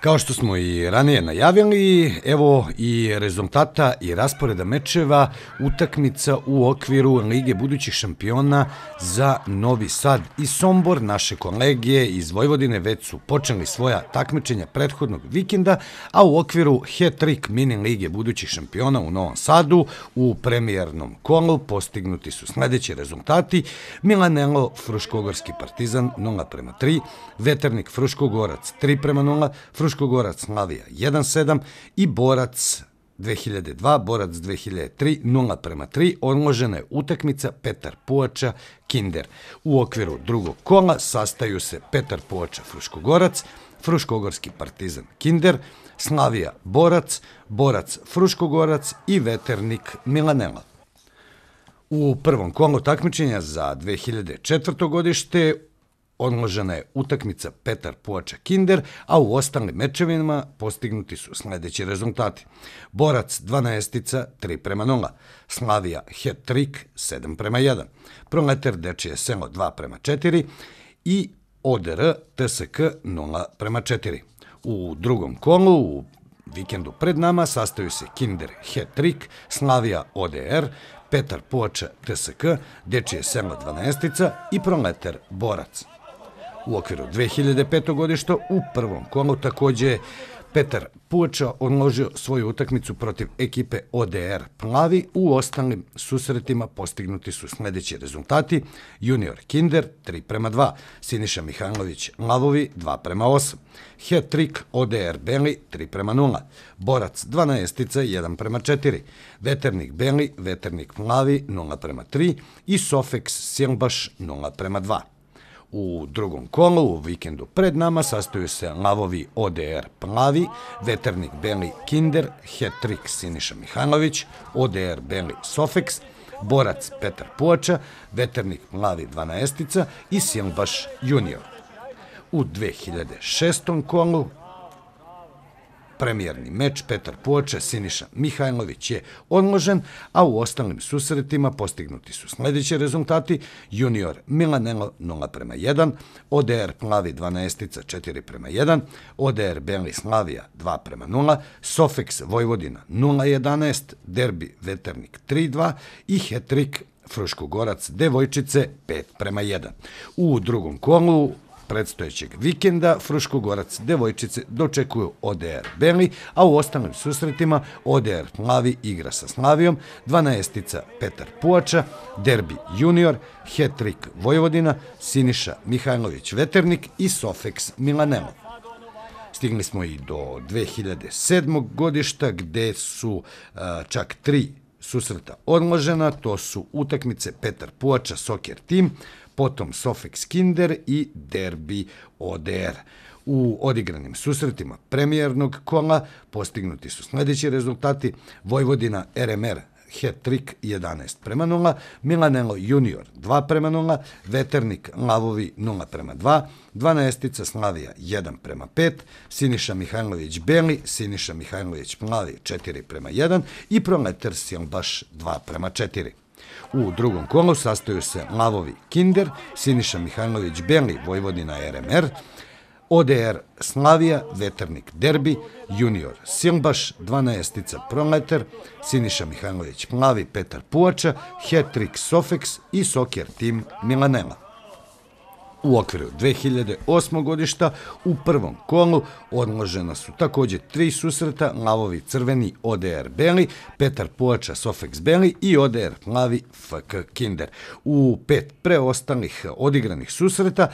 Kao što smo i ranije najavili, evo i rezultata i rasporeda mečeva utakmica u okviru Lige budućih šampiona za Novi Sad i Sombor. Naše kolege iz Vojvodine već su počeli svoja takmičenja prethodnog vikenda, a u okviru Hat-Trick mini Lige budućih šampiona u Novom Sadu u premijernom kolu postignuti su sledeći rezultati: Milanelo Fruškogorski Partizan 0:3, Veternik Fruškogorac 3:0, Fruškogorac Slavija 1:7 i Borac 2002, Borac 2003 0:3. Odložena je utakmica Petar Povača Kinder. U okviru drugog kola sastaju se Petar Povača Fruškogorac, Fruškogorski Partizan Kinder, Slavija Borac, Borac Fruškogorac i Veternik Milanela. U prvom kolu takmičenja za 2004. godište odložena je utakmica Petar Povača Kinder, a u ostalim mečevima postignuti su sledeći rezultati: Borac 12 3:0, Slavija Hat-Trick 7:1, Proleter Dečije selo 2:4 i ODR TSK 0:4. U drugom kolu, u vikendu pred nama, sastaju se Kinder Hat-Trick, Slavija ODR, Petar Povača TSK, Dečije selo 12 i Proleter Borac. U okviru 2005. godišta u prvom kolu takođe je Petar Povača odložio svoju utakmicu protiv ekipe ODR Plavi. U ostalim susretima postignuti su sledeći rezultati: Junior Kinder 3:2, Siniša Mihajlović Lavovi 2:8, Hat-Trick ODR Beli 3:0, Borac 12 1:4, Veternik Beli, Veternik Plavi 0:3 i Sofex Silbaš 0:2. U drugom kolu, u vikendu pred nama, sastaju se Lavovi ODR Plavi, Veternik Beli Kinder, Hat-Trick Siniša Mihajlović, ODR Beli Sofex, Borac Petar Povača, Veternik Plavi 12 i Silbaš Junior. U 2006. kolu premijerni meč Petar Povača Siniša Mihajlović je odložen, a u ostalim susretima postignuti su sledeći rezultati: Junior Milanelo 0:1, ODR Plavi 12 4:1, ODR Beli Slavija 2:0, Sofex Vojvodina 0:11, Derbi Veternik 3:2 i Hat-Trick Fruškogorac Devojčice 5:1. U drugom kolu predstojećeg vikenda Fruškogorac Devojčice dočekuju ODR Beli, a u ostalim susretima ODR Plavi igra sa Slavijom, 12 Petar Povača, Derbi Junior, Hat-Trick Vojvodina, Siniša Mihajlović Veternik i Sofex Milanelo. Stigli smo i do 2007. godišta gde su čak 3 susreta odložena. To su utakmice Petar Povača Soccer Team, potom Sofex Kinder i Derbi ODR. U odigranim susretima premijernog kola postignuti su sledeći rezultati: Vojvodina RMR Hat-Trick 11:0, Milanelo Junior 2:0, Veternik Lavovi 0:2, 12 Slavija 1:5, Siniša Mihajlović Beli, Siniša Mihajlović Plavi 4:1 i Proleter Silbaš 2:4. U drugom kolu sastaju se Lavovi Kinder, Siniša Mihajlović Beli, Vojvodina RMR, ODR Slavija, Veternik Derbi, Junior Silbaš, 12 Proleter, Siniša Mihajlović Plavi, Petar Povača, Hat-Trick Sofex i Soccer Team Milanela. U okviru 2008. godišta u prvom kolu odložena su takođe 3 susreta: Lavovi Crveni ODR Beli, Petar Povača Sofex Beli i ODR Plavi FK Kinder. U 5 preostalih odigranih susreta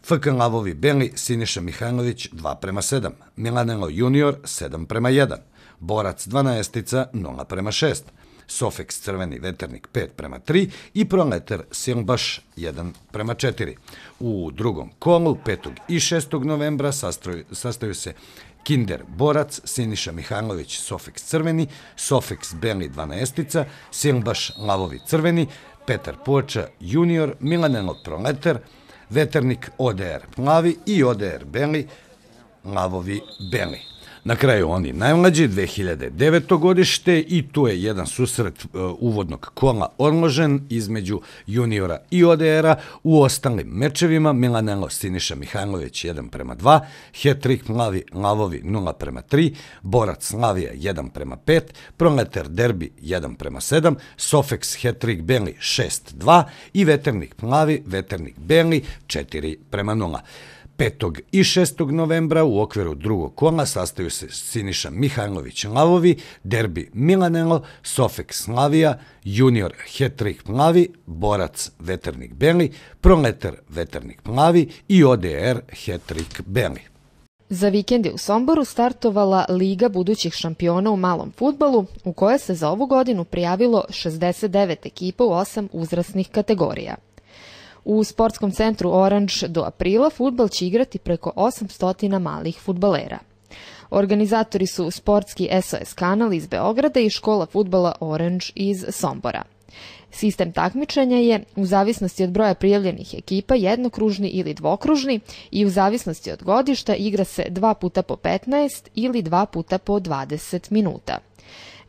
FK Lavovi Beli Siniša Mihajlović 2:7, Milanelo Junior 7:1, Borac 12 0:6, Sofex Crveni Veternik 5:3 i Proleter Silbaš 1:4. U drugom kolu 5. i 6. novembra sastaju se Kinder Borac, Siniša Mihajlović Sofex Crveni, Sofex Beli 12, Silbaš Lavovi Crveni, Petar Povača Junior, Milanelo Proleter, Veternik ODR Plavi i ODR Beli Lavovi Beli. Na kraju oni najmlađi, 2009. godište, i tu je jedan susret uvodnog kola odložen između juniora i ODR-a. U ostalim mečevima Milanelo Siniša Mihajlović 1:2, Hetrik Mlavi Lavovi 0:3, Borac Slavija 1:5, Proletar Derbi 1:7, Sofeks Hetrik Beli 6:2 i Veternik Mlavi Veternik Beli 4:0. 5. i 6. novembra u okviru drugog kola sastaju se Siniša Mihajlović Lavovi, Derbi Milanelo, Sofeks Slavija, Junior Hetrik Mlavi, Borac Veternik Beli, Proletar Veternik Mlavi i ODR Hetrik Beli. Za vikend je u Somboru startovala Liga budućih šampiona u malom fudbalu, u kojoj se za ovu godinu prijavilo 69 ekipa u 8 uzrasnih kategorija. U sportskom centru Orange do aprila fudbal će igrati preko 800 malih fudbalera. Organizatori su sportski SOS kanal iz Beograda i škola fudbala Orange iz Sombora. Sistem takmičenja je, u zavisnosti od broja prijavljenih ekipa, jednokružni ili dvokružni i u zavisnosti od godišta igra se 2 puta po 15 ili 2 puta po 20 minuta.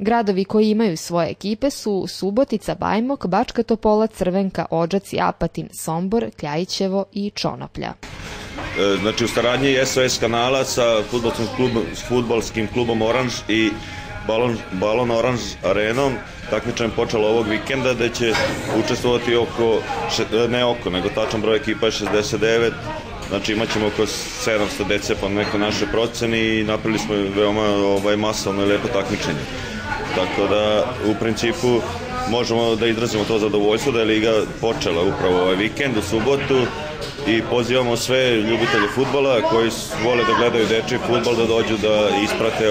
Gradovi koji imaju svoje ekipe su Subotica, Bajmok, Bačka Topola, Crvenka, Odžaci, Apatin, Sombor, Kljajićevo i Čonoplja. Znači u saradnji SOS kanala sa fudbalskim klubom Orange i Balon Orange arenom takmičenje počelo ovog vikenda, gde će učestvovati nego tačan broj ekipa je 69, znači imat ćemo oko 700 dece po nekoj našoj proceni i napravili smo veoma masovno i lepo takmičenje. Tako da u principu možemo da izrazimo to zadovoljstvo da je Liga počela upravo ovaj vikend u subotu i pozivamo sve ljubitelje fudbala koji vole da gledaju dečiji fudbal da dođu da isprate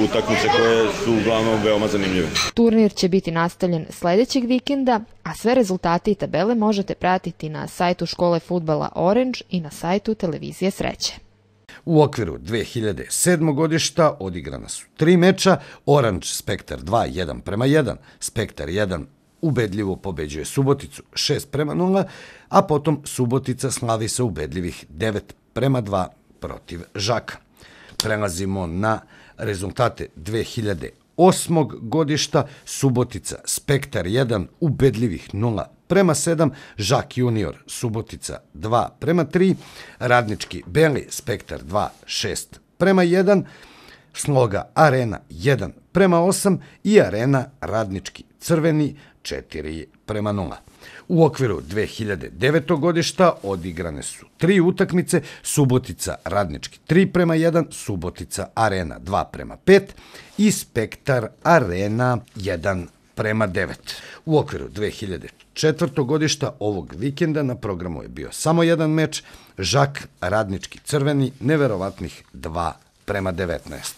utakmice koje su uglavnom veoma zanimljive. Turnir će biti nastavljen sledećeg vikenda, a sve rezultate i tabele možete pratiti na sajtu škole fudbala Orange i na sajtu televizije Sreće. U okviru 2007. godišta odigrana su 3 meča, Orange Spektar 2 1:1, Spektar 1 ubedljivo pobeđuje Suboticu 6:0, a potom Subotica slavi sa ubedljivih 9:2 protiv Žaka. Prelazimo na rezultate 2008. godišta, Subotica Spektar 1 ubedljivih 0:7, Žak junior Subotica 2:3, Radnički Beli Spektar 2 6:1, Sloga Arena 1:8 i Arena Radnički Crveni 4:0. U okviru 2009. godišta odigrane su 3 utakmice, Subotica Radnički 3:1, Subotica Arena 2:5 i Spektar Arena 1:9. U okviru 2004. godišta ovog vikenda na programu je bio samo jedan meč, Žak Radnički Crveni neverovatnih 2:19.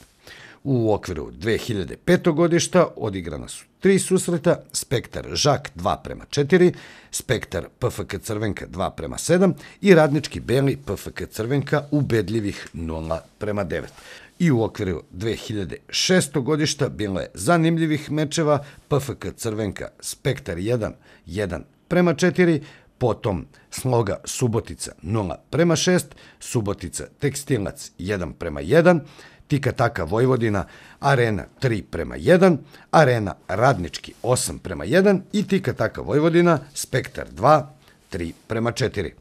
U okviru 2005. godišta odigrana su 3 susreta, Spektar Žak 2:4, Spektar PFK Crvenka 2:7 i Radnički Beli PFK Crvenka ubedljivih 0:9. I u okviru 2006. godišta bilo je zanimljivih mečeva, PFK Crvenka Spektar 1 1:4, potom Sloga Subotica 0:6, Subotica Tekstilac 1:1, Tika Taka Vojvodina Arena 3:1, Arena Radnički 8:1 i Tika Taka Vojvodina Spektar 2 3:4.